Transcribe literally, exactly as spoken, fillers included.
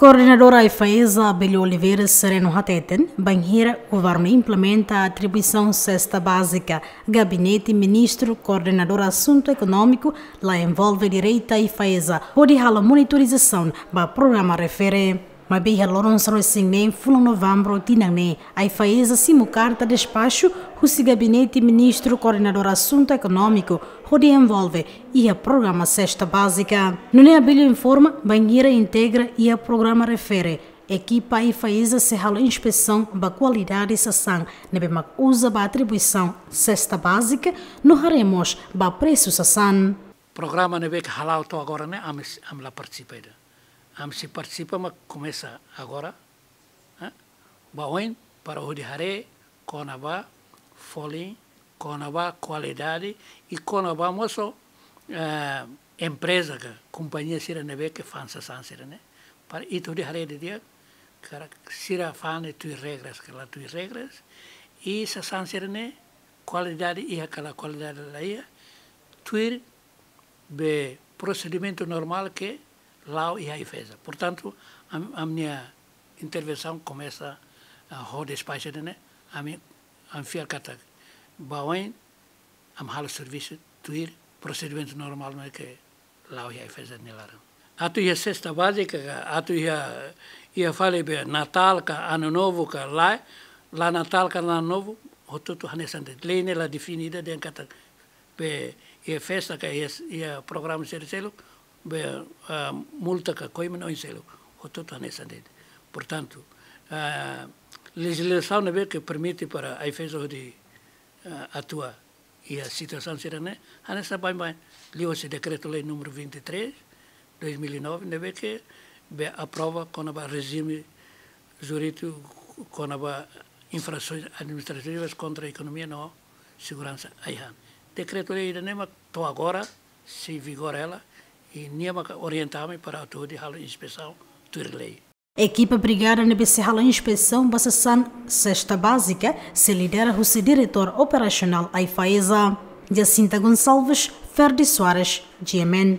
Koordenadora AIFAESA, Abelio Oliveira Sereno hateten, bainhira governu implementa atribuisaun sesta bázika, Gabinete Ministru Koordenador Asuntu Ekonómiku la envolve direta AIFAESA hodi halo monitorizasaun ba programa refere. Maibé iha loron sanulu-resin-neen fulan Novembru tinan ne'e, AIFAESA simu karta despaxu husi Gabinete Ministru Koordenador Asuntu Ekonómiku hodi envolve iha programa sesta bázika. Nune'e Abelio informa, bainhira integra iha programa refere, ekipa AIFAESA sei halo inspesaun ba kualidade sasán ne'ebé mak uza ba atribuisaun sesta bázika, no haree mós ba presu sasán. Programa ne'ebé ke hala'o to'o agora ne'e, ami, ami la partisipa ida. Ami sei partisipa mak komesa agora, eh? Ba oin para hodi haree kona-ba folin, kona-ba kualidade, i kona-ba mós, eh, empreza ka kompañia sira ne'ebé ke fa'an sasán sira-ne'e. Para ita hodi haree didi'ak, karik sira fa'an ne'e tuir regras ka la tuir regras, i sasán sira-ne'e kualidade iha ka la kualidade la iha, tuir be prosedimentu normál ke la'o iha AIFAESA. Portantu, am-, ami-nia intervensaun komesa, ah, ho despaxu ida-ne'e, ami, ami fiar katak ba oin, ami halo servisu tuir prosedimentu normál ne'ebé ke la'o iha AIFAESA nia laran. Atu iha sesta bázika, atu iha, iha fali be Natál ka Ano Novo ka lae, la Natál ka la Ano Novo, hotu-hotu hanesan de'it. Lei ne'e la define ida dehan katak be iha festa ka iha, iha programa sira seluk, be, ah, multa ka koiman oin seluk, hotu-hotu hanesan de'it. Portantu, ah, lejizlasaun ne'ebé ke permite para AIFAESA hodi, ah, atua iha situasaun sira-ne'e, hanesan baibain liuhusi Dekretu-Lei número vinte e três, dois mil e nove, ne'ebé ke be aprova kona-ba rejime jurídiku kona-ba infrasoins administrativas kontra ekonomia no seguransa ai-han. Dekretu-lei ida-ne'e mak to'o agora sei vigora hela, i nia mak orienta ami para atu hodi halo inspesaun tuir lei. Ekipa brigada ne'ebé sei halo inspesaun ba sasán sesta bázika sei lidera husi Diretór Operasionál AIFAESA. Jacinta Gonçalves, Ferdi Soares, G M N.